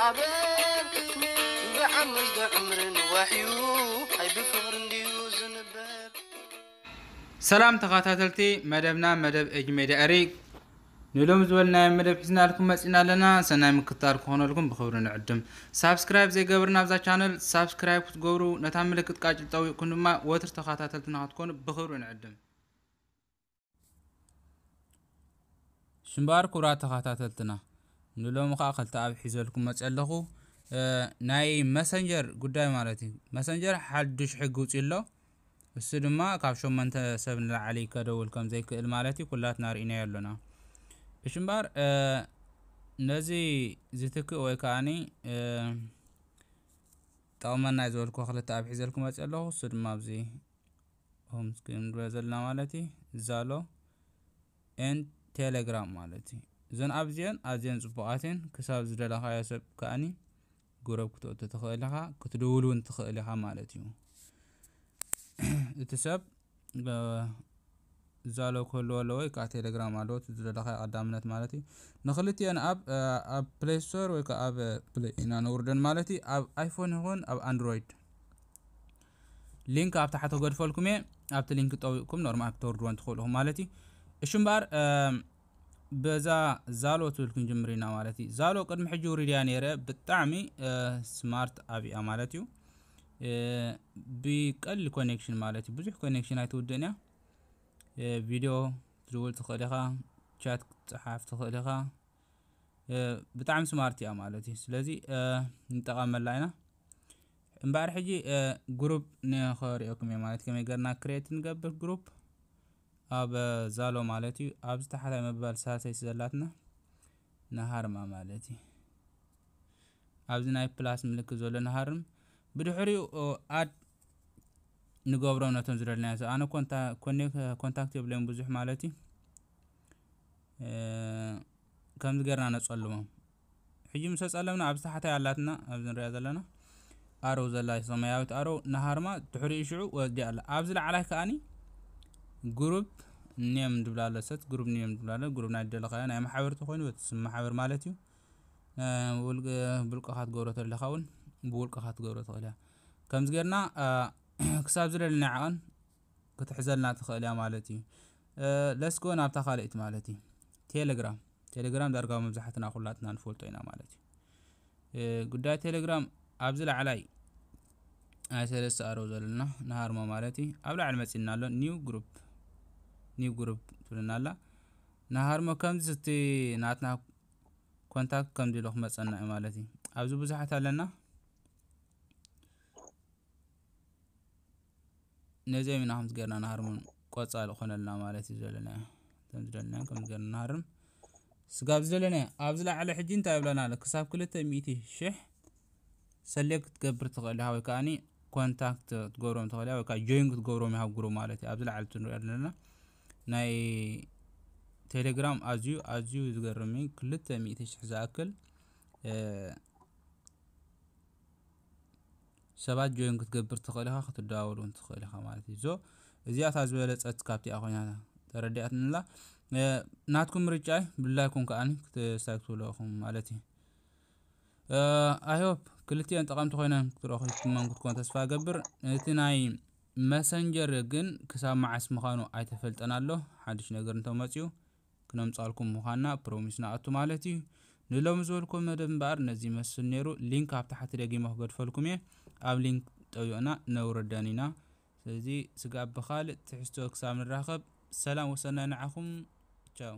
ኣበል ብዓመት ዶ ዕምርን ዋሕዩ ኣይ ብፍቕሪ እንድዩ ዝንበር። ሰላም ተኸታተልቲ መደብና፣ መደብ ኤጅ ሜድያ ኤሪክ ንሎም ዝበልናዮ መደብ ሒዝናልኩም መፂና ኣለና። ሰናይ ምክትታል ክኾነልኩም ብኽብሪ ንዕድም። ሳብስክራይብ ዘይገበርና ኣብዛ ቻነል ሳብስክራይብ ክትገብሩ፣ ነታ ምልክት ቃጭል ጠዊቕኩም ድማ ወትር ተኸታተልትና ክትኮኑ ብኽብሪ ንዕድም። ሽምባር ክቡራት ተኸታተልትና፣ ንሎሚ ኸዓ ክልተ ኣብ ሒዘልኩም መፅእ ኣለኹ። ናይ መሰንጀር ጉዳይ ማለት እዩ። መሰንጀር ሓዱሽ ሕጊ ውፅእ ኣሎ። እሱ ድማ ካብ ሸሞንተ ሰብ ንላዕሊ ከደውል ከም ዘይክእል ማለት እዩ። ኩላትና ርኢናዮ ኣሎና። እሺ እምበኣር ነዚ ዝትክእ ወይ ከዓኒ ጠቕመና ዝበልኩ ክልተ ኣብ ሒዘልኩም መፅእ ኣለኹ። እሱ ድማ ኣብዚ ሆም ስክሪን ንሪኦ ዘለና ማለት እዩ። ዛሎ ኤንድ ቴሌግራም ማለት እዩ። እዘን ኣብዚአን ኣዝየን ፅቡቓትን ክሳብ ዝደለኻዮ ሰብ ከዓኒ ጉረብ ክትእቱ ትኽእል ኢኻ፣ ክትድውል እውን ትኽእል ኢኻ ማለት እዩ። እቲ ሰብ ዛሎ ክህልዎ ኣለዎ ወይ ከዓ ቴሌግራም ኣለዎ፣ እቲ ዝደለኻዮ ቀዳምነት ማለት እዩ። ንክልቲአን ኣብ ኣብ ፕሌይ ስቶር ወይ ከዓ ኣብ ፕሌይ ኢና ነውርደን ማለት እዩ። ኣብ ኣይፎን ይኹን ኣብ ኣንድሮይድ ሊንክ ኣብ ታሕቲ ክገድፈልኩም እየ። ኣብቲ ሊንክ ጠዊቕኩም ኖርማል ክተውርድወን ትኽእሉ ኢኹም ማለት እዩ። እሺ እምበኣር በዛ ዛሎ ትብል ክንጅምር ኢና ማለት እዩ። ዛሎ ቅድሚ ሕጂ ውሪድያ ነይረ፣ ብጣዕሚ ስማርት ኣብያ ማለት እዩ። ብቀሊል ኮኔክሽን ማለት እዩ፣ ብዙሕ ኮኔክሽን ኣይትውድእን እያ። ቪድዮ ትድውል ትኽእል ኢኻ፣ ቻት ክትፀሓፍ ትኽእል ኢኻ። ብጣዕሚ ስማርት እያ ማለት እዩ። ስለዚ ንጠቐመላ ኢና። እምበኣር ሕጂ ግሩፕ ንኸሪኦኩም እየ ማለት፣ ከመይ ገርና ክሬት ንገብር ግሩፕ ኣብ ዛሎ ማለት እዩ። ኣብዚ ታሕታይ መበል ሳልሰይቲ ዘላትና ንሃርማ ማለት እዩ። ኣብዚ ናይ ፕላስ ምልክት ዘሎ ንሃርም። ብድሕሪኡ ኣድ ንገብሮም ነቶም ዝደለናዮ ሰብ። ኣነ ኮንታ- ኮኔክ- ኮንታክት የብለይን ብዙሕ ማለት እዩ። ከምዚ ገርና ነጸልሞም። ሕጂ ምስ ተጸለምና ኣብዚ ታሕታይ ኣላትና፣ ኣብዚ ንሪኣ ዘለና ኣረው ዘላ ሰማያዊት ኣረው ንሃርማ፣ ድሕሪኡ ሽዑ ወዲ ኣላ። ኣብዚ ላዕላይ ከኣኒ ግሩፕ ኔም ድብላ ኣሎ፣ ሰት ግሩፕ ኔም ድብላ ኣሎ። ግሩፕ ናይ ደለኻዮ ናይ ማሕበር ተኾይኑ በቲ ስም ማሕበር ማለት እዩ። ብውልቅኻ ትገብሮ ተለኻ እውን ብውልቅኻ ትገብሮ ትኽእል እያ። ከምዚ ጌርና ክሳብ ዝደለና ዓቐን ክትሕዘልና ትኽእል እያ ማለት እዩ። ለስጎ ናብታ ካልእቲ ማለት እዩ። ቴሌግራም ቴሌግራም ዳርጋ መብዛሕትና ኩላትና ንፈልጦ ኢና ማለት እዩ። ጉዳይ ቴሌግራም ኣብዚ ላዕላይ ናይ ሰለስተ ኣረው ዘለና ንሃርሞ ማለት እዩ። ኣብ ላዕሊ መፂና ኣሎ ኒው ግሩፕ ኒው ግሩፕ ትብልና ኣላ። ንሃርሞ ከምዚ እቲ ናትና ኮንታክት ከምዚ ኢሉ ክመፀና እዩ ማለት እዩ። ኣብዚ ብዙሓት ኣለና። ነዚኦም ኢና ከምዚ ጌርና ንሃርሞን ቆፃል ኾነልና ማለት እዩ ዘለና። ከም ዝደለናዮ ከም ዝገርና ንሃርም ስጋብ ዝደለናዮ ኣብዚ ላዕሊ ሕጂ እንታይ ይብለና ኣሎ? ክሳብ ክልተ ሚእቲ ሽሕ ሰሌክት ክትገብር ትኽእል ኢኻ ወይ ከዓኒ ኮንታክት ክትገብሮም ትኽእል ኢኻ ወይ ከዓ ጆይን ክትገብሮም ኢኻ ግሩፕ ማለት እዩ። ኣብዚ ላዕሊ እቲ ንሪኦ ዘለና ናይ ቴሌግራም ኣዝዩ ኣዝዩ ዝገርም እዩ። ክልተ ሚእቲ ሽሕ ዝኣክል ሰባት ጆይን ክትገብር ትኽእል ኢኻ፣ ክትደዋወል እውን ትኽእል ኢኻ ማለት እዩ። ዞ እዚኣ እታ ዝበለፀት ካብቲኣ ኮይና ተረዲኣትንላ። ናትኩም ምርጫ እዩ፣ ብላይኩም ከዓኒ ክትስታይ ክትብሉ ኢኹም ማለት እዩ። ኣይሆፕ ክልቲኦን ጠቐምቲ ኮይነን ክትረኽብኩመን ክትኮን ተስፋ እገብር። እቲ ናይ መሰንጀር ግን ክሳብ መዓስ ምዃኑ ኣይተፈልጠን ኣሎ። ሓድሽ ነገር እንተመፅኡ ክነምፃልኩም ምዃንና ፕሮሚስ ንኣቱ ማለት እዩ። ንሎሚ ዝበልኩም መደብ እምበኣር ነዚ ይመስል ነይሩ። ሊንክ ኣብ ታሕቲ ደጊመ ክገድፈልኩም እየ። ኣብ ሊንክ ጠዊቕና ነውርደን ኢና። ስለዚ ስጋብ ብኻልእ ትሕዝቶ ክሳብ ንራኸብ ሰላም ወሰናይ ንዓኹም። ቻው።